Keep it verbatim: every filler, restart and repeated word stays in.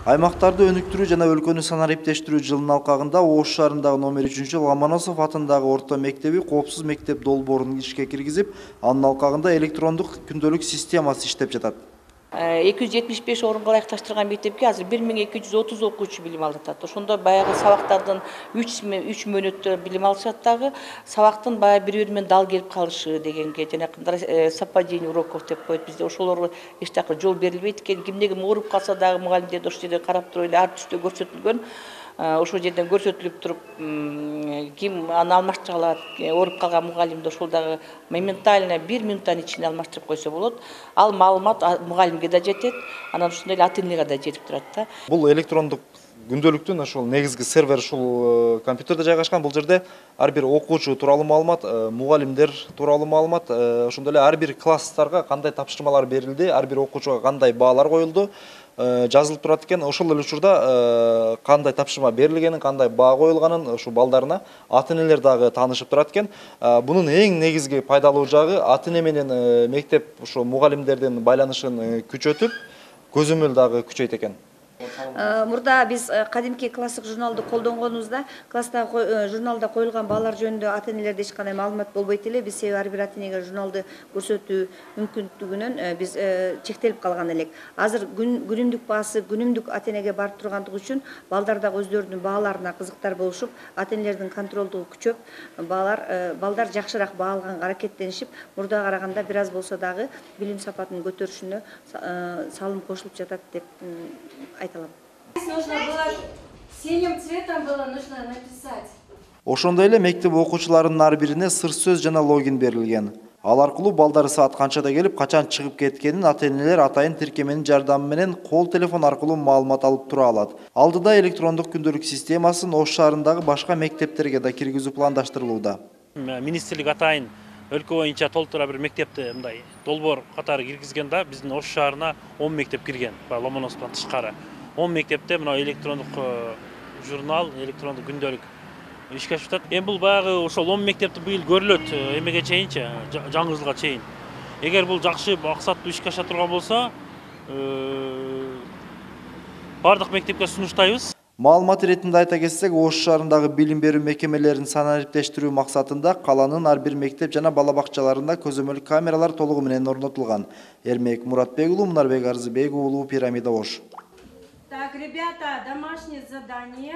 Аймактарды өнүктүрүү жана өлкөнү санариптештирүү жылынын алкагында Ош шаарындагы номер үчүнчү Ломоносов атындагы орто мектеби коопсуз мектеп долбоорун ишке киргизип, анын алкагында электрондук күндөлүк системасы иштеп жатат. эки жүз жетимиш беш орунга ылайыкташтырылган мектепке азыр бир миң эки жүз отуз окуучу билим алып атат. Ошондо баягы сабактардын үч мөөнөттө билим алышат дагы, сабактын баягы бири-бири менен дал келип калышы дегенге, жанакындай совпадение уроков деп коет бизде, ошолорго эч жака жол берилбейт экен. Кимде ким ооруп калса дагы мугалимдерди ошол жерде карап туруп эле ар түстө көрсөтүлгөн. Ошол жерден көрсөтүлүп туруп, ким аны алмаштыра алат, ооруп калган мугалимди ошол дагы моментально бир минуттан ичинде алмаштырып койсо болот. Ал маалымат мугалимге да жетет, анан ошондой эле ата-энеге да жетип турат да. Бул электрондук күндөлүктүн ошол негизги сервер ушул компьютерде жайгашкан. Бул жерде ар бир окуучу тууралуу маалымат, мугалимдер тууралуу маалымат, ошондой эле ар бир класстарга кандай тапшырмалар берилди, ар бир окуучуга кандай баалар коюлду жазылып турат экен. Ошол эле учурда кандай тапшырма берилгенин, кандай баа коюлганын ушул балдарына ата-энелер дагы таанышып турат экен. Бунун эң негизги пайдалуу жагы ата-эне менен мектеп ошо мугалимдердин байланышын күчөтүп, көзөмөл дагы күчөйт экен. Мурда биз кадимки класстык журналды колдонгонубузда, класстагы журналда коюлган баалар жөнүндө ата-энелерде эч кандай маалымат болбойт эле. Биз себеби ар бир ата-энеге журналды көрсөтүү мүмкүндүгүнөн биз чектелип калган элек. Азыр күнүмдүк баасы күнүмдүк ата-энеге барып тургандыгы үчүн балдар дагы өздөрүнүн бааларына кызыктар болушуп, ата-энелердин контролдугу күчөп, баалар балдар жакшыраак баа алганга аракеттенишип, мурдага караганда бир аз болсо дагы билим сапатын көтөрүшүнө салым кошулуп жатат деп айталам. Нужно было синим цветом было нужно написать. Ошондой эле мектеп окуучуларынын ар бирине сыр сөз жана логин берилген. Ал аркылуу балдары саат канчада келип, качан чыгып кеткенин ата-энелер атайын тиркеменин жардамы менен кол телефон аркылуу маалымат алып тура алат. Алдыда электрондук күндөлүк системасын Ош шаарындагы башка мектептерге да киргизүү пландаштырылууда. Министрлик атайын өлкө боюнча толтура бир мектепти мындай долбоор катары киргизген да, биздин Ош шаарына он мектеп кирген, Ломоносовдон тышкары. он мектепте мына электрондук журнал, электрондук күндөлүк ишке ашып жатат. Эми бул баягы ошол он мектепти быйыл көрүлөт эмеге чейинчи, жаңы жылга чейин. Эгер бул жакшы максаттуу ишке аша турган болсо, бардык мектепке сунуштайбыз. Маалымат иретинде айта кетсек, Ош шаарындагы билим берүү мекемелерин санариптештирүү максатында каланын ар бир мектеп жана бала бакчаларында көзөмөл камералар толугу менен орнотулган. Эрмек Муратбек уулу, Мунарбек Арзыбек уулу, Пирамида, Ош. Так, ребята, домашнее задание.